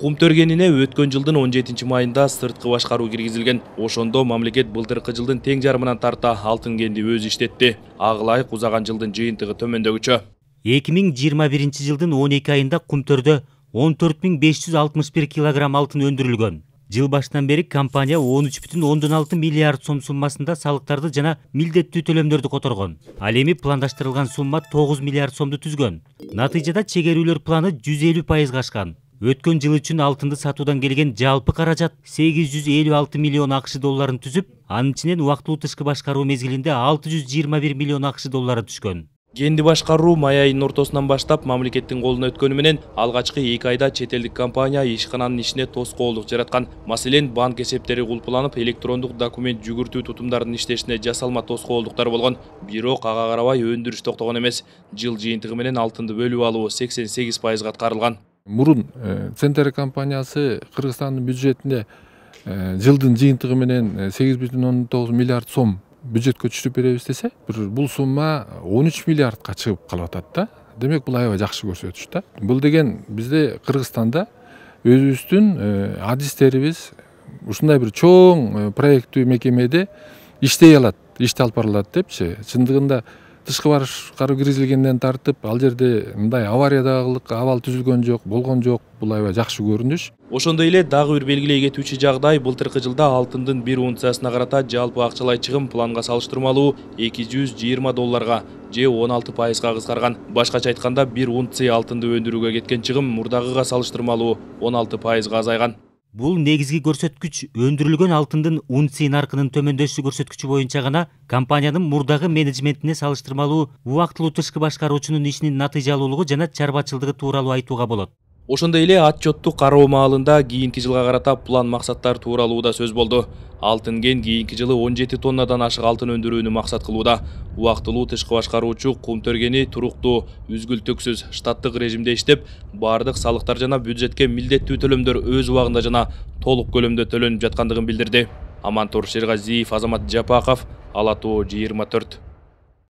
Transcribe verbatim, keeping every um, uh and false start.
Кумтөргенине өткөн жылдын он жетинчи майында сырткы башкаруу киргизилген. Ошондо мамлекет былтыркы жылдын тең жарымынан тарта алтын кенди өзү иштетти. Ага ылайык узаган жылдын жыйынтыгы төмөндөгүчө. эки миң жыйырма биринчи жылдын он эки айында Кумтөрдө он төрт миң беш жүз алтымыш бир килограмм алтын өндүрүлгөн. Жыл башынан бери компания он үч бүтүн ондон алты миллиард сом суммасында салыктарды жана милдеттүү төлөмдөрдү которгон. Ал эми пландаштырылган сумма тогуз миллиард сомду түзгөн. Натыйжада чегерүүлөр планы жүз элүү пайызга ашкан. Өткөн жыл үчүн алтынды сатуудан келген жалпы каражат сегиз жүз элүү алты миллион акш долларын түзүп, анын ичинен убактылуу тышкы башкаруу мезгилинде алты жүз жыйырма бир миллион акш доллары түшкөн. Кенди башкаруу май айынын ортосунан баштап мамлекеттин колуна өткөнү менен алгачкы эки айда чет элдик компания ишкананын ишине тоскоолдук жараткан. Маселен, банк эсептери кулпуланып, электрондук документ жүгүртүү тутумдарынын иштешине жасалма тоскоолдуктар болгон. Бирок ага карабай өндүрүш токтогон эмес. Жыл жыйынтыгы менен алтынды бөлүп алуу сексен сегиз пайызга аткарылган. Мурун Центр компаниясы Кыргызстандын бюджетине жылдын жыйынтыгы менен сегиз бүтүн ондон тогуз миллиард сом бюджетке түшүрүп беребиз десе, бул сумма он үч миллиардка чыгып калып атат да. Демек бул аябай жакшы көрсөтүш да. Бул деген бизде Кыргызстанда өзүбүздүн адистерибиз ушундай бир чоң проекттүү мекемеде иштей алат, ишти алып бара алат депчи. Чындыгында тышкы башкаруу киргизилгенден тартып, ал жерде мындай авариядагылык абал түзүлгөн жок, болгон жок. Бул аябай жакшы көрүнүш. Ошондой эле дагы бир белгилей кетүүчү жагдай былтыркы жылда алтындын бир унциясына карата жалпы акчалай чыгым планга салыштырмалуу эки жүз жыйырма долларга же он алты пайызга кыскарган. Башкача айтканда, бир унция алтынды өндүрүүгө кеткен чыгым мурдагыга салыштырмалуу он алты пайызга азайган. Бул негизги көрсөткүч өндүрүлгөн алтындын унция наркынын төмөндөшү көрсөткүчү боюнча гана компаниянын мурдагы менеджментине салыштырмалуу убактылуу тышкы башкаруучунун ишинин натыйжалуулугу жана чарбачылдыгы тууралуу айтууга болот. Ошондой эле отчетту кароо маалында кийинки жылга карата план максаттар тууралуу да сөз болду. Алтын кен кийинки жылы он жети тоннадан ашык алтын өндүрүүнү максат кылууда. Убактылуу тышкы башкаруучу Кумтөргени туруктуу, үзгүлтүксүз штаттык режимде иштеп, бардык салыктар жана бюджетке милдеттүү төлөмдөр өз убагында жана толук көлөмдө төлөнүп жаткандыгын билдирди. Амантур Шергазиев, Азамат Жапаков, Ала Тоо жыйырма төрт.